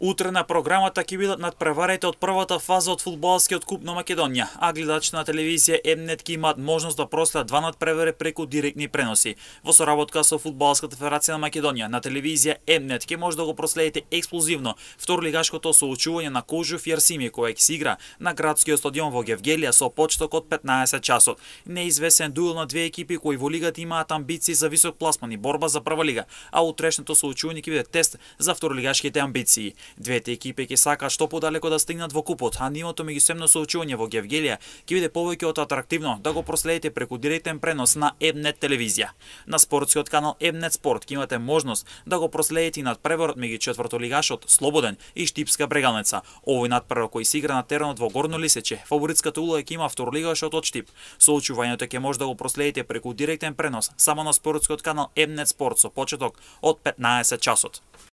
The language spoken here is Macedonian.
Утре на програмата ќе бидат надпреварите од првата фаза од фудбалскиот куп на Македонија, а гледачите на телевизија М-нет ќе имаат можност да проследат два надпревари преку директни преноси. Во соработка со Фудбалската федерација на Македонија, на телевизија М-нет ќе може да го проследите ексклузивно второлигашкото соучување на Кожув и Арсими кој ќе се игра на градскиот стадион во Гевгелија со почеток од 15 часот. Неизвесен дуел на две екипи кои во лигата имаат амбиции за висок пласман и борба за прва лига, а утрешното соучување ќе биде тест за второлигашките амбиции. Двете екипи ќе сакаат што подалеку да стигнат во купот, а нивото меѓусебно соучување во Гевгелија ќе биде повеќе од атрактивно да го проследите преку директен пренос на М-нет телевизија. На спортскиот канал М-нет спорт ќе имате можност да го проследите и надпреварот меѓу четвртолигашот Слободен и Штипска Брегалница. Овој надпревар кој се игра на теренот во Горно Лисече, фаворитската улога ќе има второлигашот од Штип. Соучувањето ќе може да го проследите преку директен пренос само на спортскиот канал М-нет спорт со почеток од 15 часот.